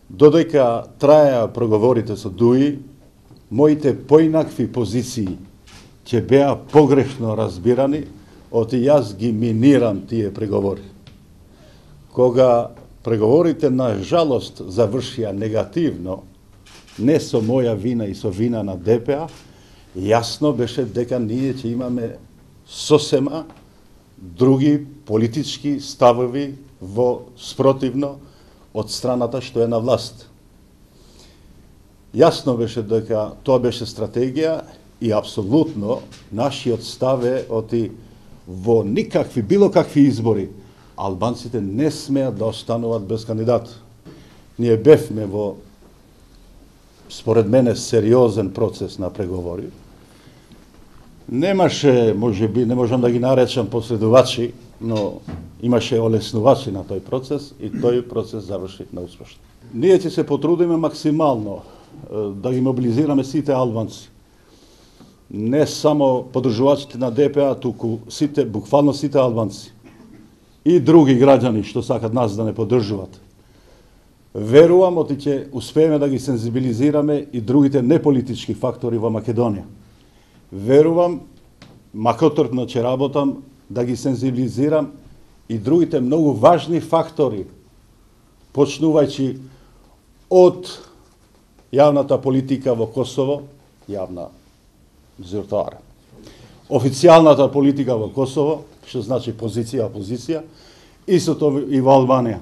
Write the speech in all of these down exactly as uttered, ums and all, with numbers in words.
Додека траја проговорите со ДУИ, моите поинакви позиции ќе беа погрешно разбирани, оти јас ги минирам тие преговори. Кога преговорите на жалост завршија негативно, не со моја вина и со вина на ДПА, јасно беше дека ние ќе имаме сосема други политички ставови во спротивно од страната што е на власт. Јасно беше дека тоа беше стратегија и апсолутно нашиот став е оти во никакви, било какви избори, албанците не смеат да остануваат без кандидат. Ние бевме во, според мене, сериозен процес на преговори. Немаше, може би, не можам да ги наречам последувачи, но имаше олеснувачи на тој процес и тој процес заврши неуспешно. Ние ќе се потрудиме максимално да ги мобилизираме сите албанци. Не само поддржувачите на ДПА, туку сите, буквално сите албанци и други граѓани што сакат нас да не поддржуваат. Верувам оти ќе успееме да ги сензибилизираме и другите неполитички фактори во Македонија. Верувам, макотрпно ќе работам, да ги сензибилизирам и другите многу важни фактори, почнувајќи од јавната политика во Косово, јавна зиртоара, официјалната политика во Косово, што значи позиција, опозиција, истото и во Албанија.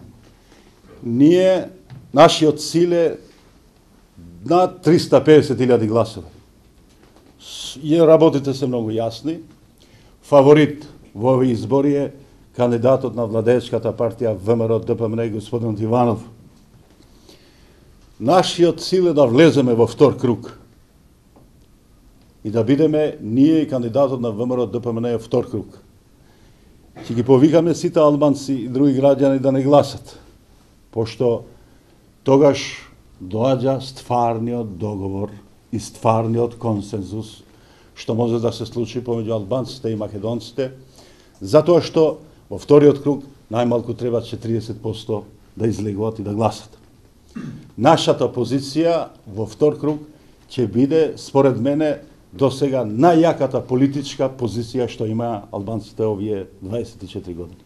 Ние, нашиот цил е над триста и педесет илјади гласови. И работите се многу јасни. Фаворит во овие избори е кандидатот на владеечката партија ВМРО ДПМН господин Иванов. Нашиот цил е да влеземе во втор круг и да бидеме ние и кандидатот на ВМРО ДПМН втор круг. Ќе ги повикаме сите албанци и други граѓани да не гласат, пошто тогаш доаѓа стварниот договор и стварниот консензус што може да се случи помеѓу албанците и македонците, затоа што во вториот круг најмалку треба четириесет проценти да излегуваат и да гласат. Нашата позиција во втор круг ќе биде, според мене, до сега најјаката политичка позиција што има албанците овие дваесет и четири години.